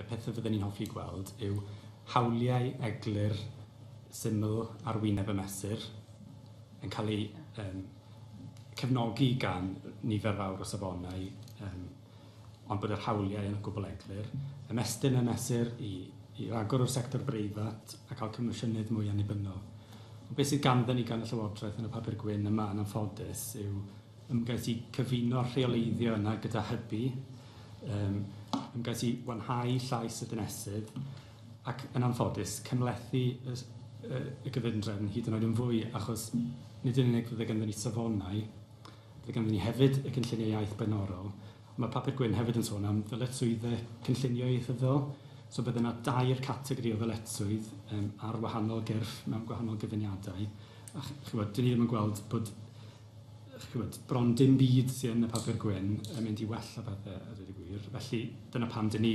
y pethau fydden ni'n hoffi gweld yw hawliau eglur syml ar wyneb y mesur yn cael ei cefnogi gan nifer fawr o safonau, ond bod yr hawliau yn gwbl eglur. Ymestyn y mesur i ragor o'r sector breifat a cael comisiynydd mwy annibynnol. Ond beth sydd ganddyn ni gan y Llywodraeth yn y papur gwyn yma yn anffodus yw ymgais i cyfuno rheoleiddio yna gyda hybu, ymgais i wanhau llais y dinesydd ac yn anffodus cymhlethu y gyfundrefn hyd yn oed yn fwy, achos nid yn unig fydde ganddyn ni safonau, fydde ganddyn ni hefyd y cynlluniau iaith blaenorol. Mae papur gwyn hefyd yn sôn am ddyletswyddau cynllunio ieithyddol, so bydde yna dair categori o ddyletswydd ar wahanol gyrff mewn gwahanol gyfuniadau. A ch'mod, dyn ni ddim yn gweld bod, ch'mod, bron dim byd sydd yn y papur gwyn yn mynd i wella pethau, a dweud y gwir. Felly dyna pam dyn ni,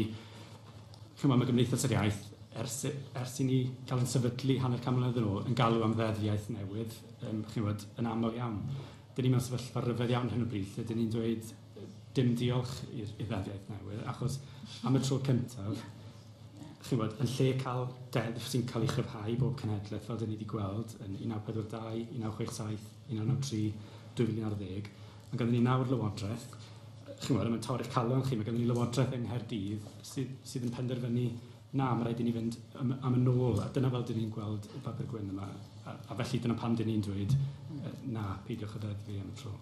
ch'mod, mae Gymdeithas yr Iaith, ers i ni gael yn sefydlu 50 mlynedd yn ôl, yn galw am ddeddf iaith newydd, ch'mod, yn aml iawn. Dyn ni mewn sefyllfa ryfedd iawn hyn o bryd, lle dyn ni'n dweud dim diolch i'r ddeddf iaith newydd, achos am y tro cyntaf, ch'mod, yn lle cael deddf sy'n cael ei chryfhau bob cenhedlaeth, fel dyn ni wedi gweld yn 1942, 1967, 1993, 2011, mae ganddyn ni nawr lywodraeth, ch'mod, mae'n torri'ch calon chi, mae ganddyn ni lywodraeth yng Nghaerdydd sydd yn penderfynu na, mae rhaid i ni fynd am y nôl, a dyna fel dyn ni'n gweld y papur gwyn yma, a felly dyna pam dyn ni'n dweud na, peidiwch â deddfu am y tro.